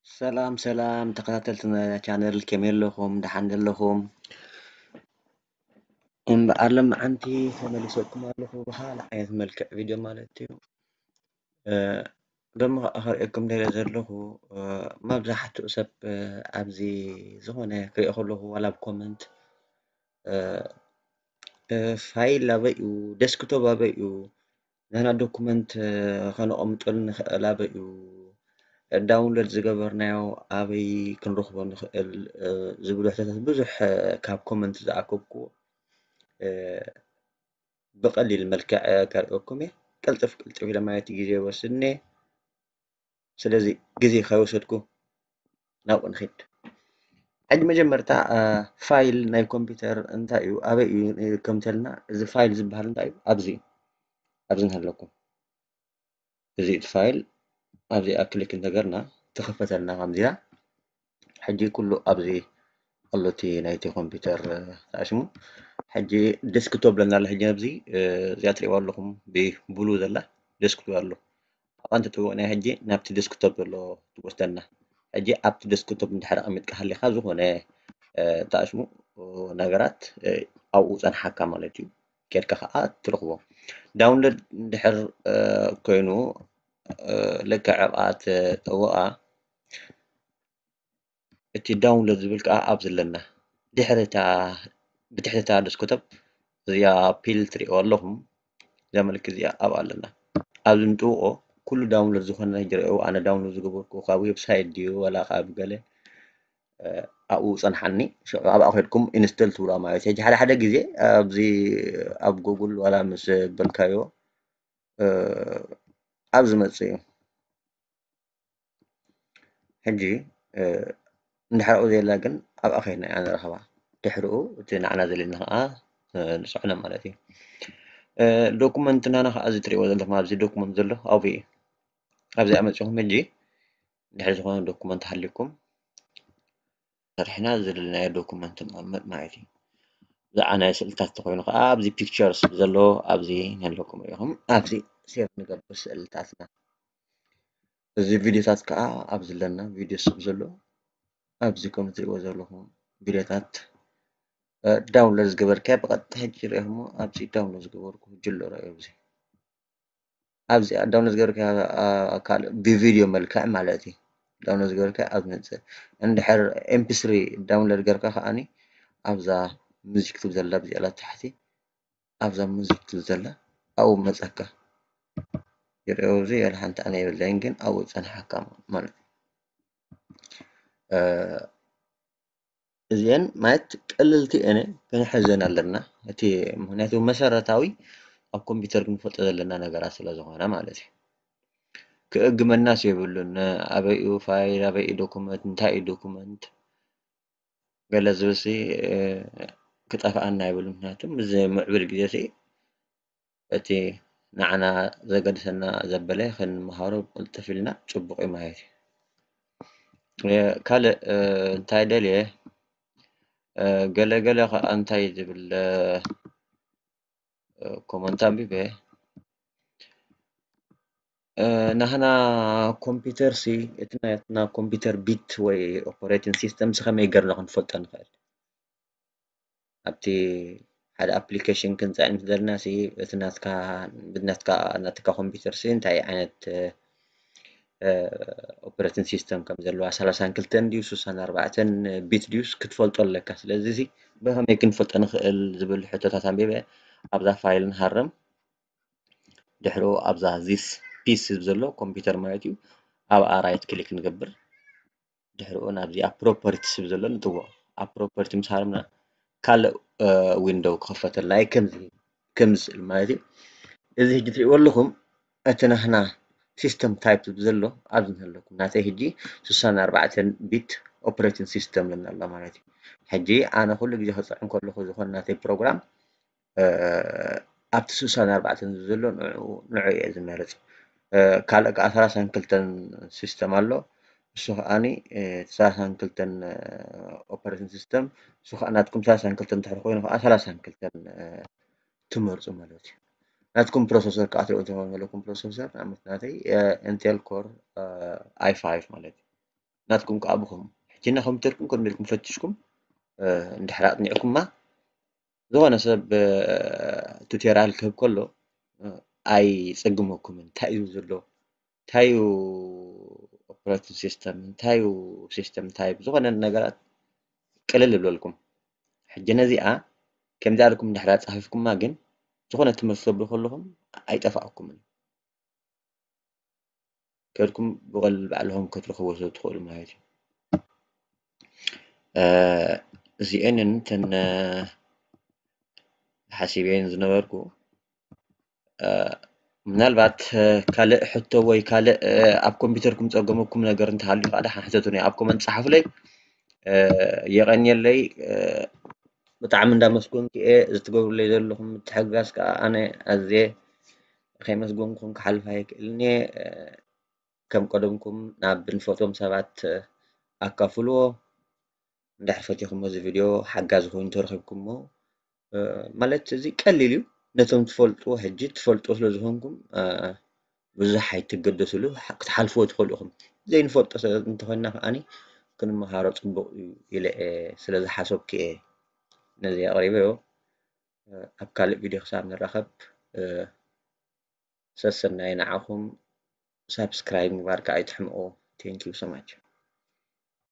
ሰላም ሰላም ተኸታተልቲ ናይዛ ቻነል፣ ከመይ ኣለኹም? ደሓን ዶ ኣለኹም? እምበኣር ሎምዓንቲ ተመሊሰኩም ኣለኹ ብኻልእ ዓይነት መልክዕ ቪድዮ ማለት እዩ። እ፣ ሎሚ ኸኣ ከርእየኩም ደልየ ዘለኹ፣ እ፣ መብዛሕትኡ ሰብ፣ እ፣ ኣብዚ ዝኾነ ክርእዮ ከለኹ ዋላ ኣብ ኮመንት፣ እ፣ እ፣ ፋይል ኣበይ እዩ? ዴስክቶፕ ኣበይ እዩ? ናህና ዶኩመንት፣ እ፣ ከነቐምጠሉ ንኽእል ኣበይ እዩ? ዳውንሎድ ዝገበርናዮ ኣበይ ክንረኽቦ ንኽእል? እ፣ ዝብሉ ሕቶታት ብዙሕ፣ እ፣ ካብ ኮመንት ዝኣከብኩዎ፣ እ፣ ብቐሊል መልክዕ፣ እ፣ ከርእየኩም እየ። ቅልጥፍ ቅልጥፍ ኢለ ማለት ግዜ ይወስድኒ። ስለዚ ግዜ ከይወሰድኩ ናብኡ ንኺድ። ሕጂ መጀመርታ፣ እ፣ ፋይል ናይ ኮምፒውተር እንታይ እዩ? ኣበይ እዩ ይርከብ እንተልና፣ እዚ ፋይል ዝበሃል እንታይ እዩ? ኣብዚ፣ ኣብዚ እንሃለኩም። እዚ እቲ ፋይል ኣብዚኣ ክሊክ እንተገርና ትኽፈተልና ከምዚኣ። ሕጂ ኩሉ ኣብዚ ኣሎ እቲ ናይቲ ኮምፒውተር፣ እ፣ ተኣሽሙ። ሕጂ ዴስክቶፕ ብለና ኣሎ። ሕጂ ኣብዚ፣ እ፣ እዚኣ ትርእይዋ ኣለኹም ብብሉ ዘላ ዴስክቶፕ ኣሎ። ኣብኣ እንተጠዊቕናዮ ሕጂ ናብቲ ዴስክቶፕ ዘሎ ትወስደና። ሕጂ ኣብቲ ዴስክቶፕ እንድሕር ኣቐሚጥካ ሃሊኻ ዝኾነ፣ እ፣ ተኣሽሙ፣ እ፣ ነገራት፣ እ፣ ኣብኡ ጸንሓካ ማለት እዩ። ኬድካ ኸኣ ትረኽቦ። ዳውንሎድ እንድሕር፣ እ፣ ኮይኑ፣ እ፣ ልክዕ ኣብኣ ትጠውቓ። እቲ ዳውንሎድ ዝብል ከኣ ኣብዚ ኣለና። ድሕሪ እታ፣ ብድሕሪ እታ ዴስክቶፕ እዚኣ ፒል ትርእይዋ ኣለኹም። እዛ ምልክት እዚኣ ኣብኣ ኣለና። ኣብዚ ንጥውቖ ኩሉ ዳውንሎድ ዝኾነ ይርአዩ። ኣነ ዳውንሎድ ዝገበርኩ ካብ ዌብሳይት ድዩ ዋላ ካብ ገለ፣ እ፣ ኣብኡ ጸንሓኒ። ሽዑ ኣብኣ ከድኩም ኢንስቶል ትብላ ማለት እዩ። ሕጂ ሓደ ሓደ ግዜ ኣብዚ ኣብ ጉግል ዋላ ምስ በልካዮ፣ እ፣ ኣብ ዝመጽእ እዩ። ሕጂ፣ እ፣ እንድሕር ኣብኡ ዘየላ ግን ኣብኣ ከይድና ኢና ንረኽባ። ድሕሪኡ እቲ ንዓና ዘድልየና ኸኣ፣ እ፣ ንጽዕኖ ማለት እዩ። እ፣ ዶኩመንት ናና ኸኣ እዚ ትርእይዎ ዘለኹም ኣብዚ ዶኩመንት ዘሎ ኣብኡ እዩ። ኣብዚ ኣመጺኹም ሕጂ እንድሕር ዝኾነ ዶኩመንት ሃልዩኩም፣ ሰሪሕና ዝደለናዮ ዶኩመንት ንቐምጥ ማለት እዩ። ብዛዕባ ናይ ስእልታት ተኾይኑ ኸዓ ኣብዚ ፒክቸርስ ዘሎ ኣብዚ ነለኩም ኢኹም። ኣብዚ ሴቭ ንገብር ስእልታትና። እዚ ቪድዮታት ከዓ ኣብዚ ኣለና፣ ቪድዮ ስብ ዘሎ ኣብዚ ከም እትሪእዎ ዘለኹም ቪድዮታት፣ እ፣ ዳውንሎድ ዝገበርካዮ ብቐጥታ ሕጂ ርኢኹሞ ኣብዚ ዳውንሎድ ዝገበርኩ ሕጂ ኣሎ ርኣዮ ኣብዚ። ኣብዚ ዳውንሎድ ዝገበርካዮ፣ እ፣ ካልእ ብቪድዮ መልክዕ ማለት እዩ። ዳውንሎድ ዝገበርካዮ ኣብ ዝመጽእ። እንድሕር ኤምፒ ስሪ ዳውንሎድ ገርካ ከኣኒ ኣብዛ ሙዚክ ትብል ዘላ ኣብዚ ኣላ ታሕቲ፣ ኣብዛ ሙዚክ ትብል ዘላ ኣብኡ መጸካ። ይርእዮ ኣብዚ ያለ ሓንቲ ኣነ የብለይን፣ ግን ኣብኡ ጸንሓካ ማለት እዩ። እ፣ እዚአን ማለት ቀለልቲ እየን፣ ክንሕዘን ኣለና። እቲ ምኽንያቱ መሰረታዊ ኣብ ኮምፒውተር ክንፈልጦ ዘለና ነገራት ስለ ዝኾነ ማለት እዩ። ክእግመናስ የብሉን። ኣበይ እዩ ፋይል፣ ኣበይ እዩ ዶኩመንት፣ እንታይ እዩ ዶኩመንት፣ ገለ ዝብልሲ፣ እ፣ ክጠፍኣና የብሉን። ምኽንያቱ ምስ ምዕብል ግዜ ሲ እቲ ንዓና ዘገድሰና ዘበለ ክንምሃሮ ቅልጥፍ ኢልና ጽቡቕ እዩ ማለት እዩ። እ፣ ካልእ፣ እ፣ እንታይ ደልየ፣ እ፣ ገለ ገለ ኸኣ እንታይ ዝብል፣ እ፣ እ፣ ኮመንት ኣንቢበ፣ እ፣ ናህና ኮምፒውተር ሲ፣ እቲ ናትና ኮምፒውተር ቢት ወይ ኦፐሬቲንግ ሲስተም ሲ ከመይ ገርና ክንፈልጦ ንኽእል? ኣብቲ ሓደ ኣፕሊኬሽን ክንጽዕን ምስ ደለና ሲ፣ እቲ ናትካ፣ ናትካ፣ ናትካ ኮምፒውተር ሲ እንታይ ዓይነት፣ እ፣ ኦፐሬቲንግ ሲስተም ከም ዘለዋ፣ ሰላሳን ክልተን ድዩ፣ ስሳን ኣርባዕተን ቢት ድዩስ ክትፈልጦ ኣለካ። ስለዚ ሲ ብኸመይ ክንፈልጦ ንኽእል ዝብል ሕቶታት ኣንቢበ ኣብዛ ፋይል ንሃርም። ድሕሪኡ ኣብዛ ዚስ ፒስ ዝብል ዘሎ ኮምፒውተር ማለት እዩ። ኣብኣ ራይት ክሊክ ንገብር። ድሕሪኡ ናብዚኣ ፕሮፐርቲስ ዝብል ዘሎ ንጥውቕ። ኣብ ፕሮፐርቲ ምስ ሃረምና ካልእ፣ እ፣ ዊንዶው ክኸፈተልና እዩ። ከምዚ፣ ከምዚ ስእል ማለት እዩ። እዚ ሕጂ ትሪእዎ ኣለኹም፣ እቲ ናህና ሲስተም ታይፕ ዝብል ዘሎ ኣብዚ እንተለኩም። ናተይ ሕጂ ስሳን ኣርባዕተን ቢት ኦፕሬቲንግ ሲስተም ይብለና ኣሎ ማለት እዩ። ሕጂ ኣነ ኩሉ ግዜ ክጽዕን ከለኹ ዝኾነ ናተይ ፕሮግራም፣ እ፣ ኣብቲ ስሳን ኣርባዕተን ዘሎ ንዑ፣ ንዑ እየ ዝመርጽ። እ፣ ካልእ ከኣ ሰላሳን ክልተን ሲስተም ኣሎ። እሱ ከኣኒ፣ እ፣ ሰላሳን ክልተን፣ እ፣ ኦፐሬቲንግ ሲስተም፣ እሱ ከኣ ናትኩም ሰላሳን ክልተን እንድሕር ኮይኑ ከኣ ሰላሳን ክልተን፣ እ፣ ትመርፁ ማለት እዩ። ናትኩም ፕሮሰሰር ከዓ ትሪኦ ትኾኑ ዘለኩም ፕሮሰሰር ንኣብነት ናተይ ኢንቴል ኮር ኣይ ፋይቭ ማለት እዩ። ናትኩም ከዓ ብኸም ሕጂ ኮምፒውተርኩም ኮምፒውተርኩም ፈትሽኩም እንድሕር ኣጥኒዕኩማ ዝኾነ ሰብ ቱቶሪያል ክህብ ከሎ ኣይፀግመኩምን። እንታይ እዩ ዘሎ፣ እንታይ እዩ ኦፕሬቲንግ ሲስተም፣ እንታይ እዩ ሲስተም ታይፕ፣ ዝኾነ ነገራት ቅልል ይብለልኩም። ሕጂ ነዚኣ ከምዚ ኣልኩም እንድሕር ኣፃፊፍኩማ ግን ዝኾነ ትምህርቲ ተብሉ ከለኹም ኣይጠፋእኩምን። ከድኩም ብቐል ባዕልኹም ክትረኽቦ ስለ ትኽእሉ ማለት እዩ። እዚኤንን ተን ሓሲበን ዝነበርኩ ምናልባት ካልእ ሕቶ ወይ ካልእ ኣብ ኮምፒውተርኩም ጸገመኩም ነገር እንተሃልዩ ከዓ ደሓን ሕተቱኒ ኣብ ኮመንት ጸሓፉለይ። የቐንየለይ። ብጣዕሚ እንዳመስገንኩ እየ ዝትገብሩለይ ዘለኹም ምትሕግጋዝ ከዓ ኣነ ኣዝየ ከይመስገንኩም ክሓልፍ ኣይክእልን እየ። ከም ቀደምኩም ናብ ንፈትዎም ሰባት ኣካፍልዎ። እንድሕር ፈቲኹሞ እዚ ቪድዮ ሓጋዚ ኮይኑ ተረኺብኩሞ ማለት እዚ ቀሊል እዩ። ነቶም ትፈልጥዎ ሕጂ ትፈልጥዎ ስለ ዝኾንኩም ብዙሕ ኣይትገደስሉ፣ ክትሓልፍዎ ትኽእሉ ኢኹም። ዘይንፈልጦ እንተኾይንና ከዓኒ ክንመሃሮ ፅቡቕ እዩ ኢለ እየ ስለ ዝሓሰብኩ እየ ነዚ ኣቕሪበዮ። ኣብ ካልእ ቪድዮ ክሳብ ንራኸብ ሰሰናይ ንዓኹም። ሳብስክራይብ ምግባር ከዓ ኣይትሕምቑ። Thank you so much።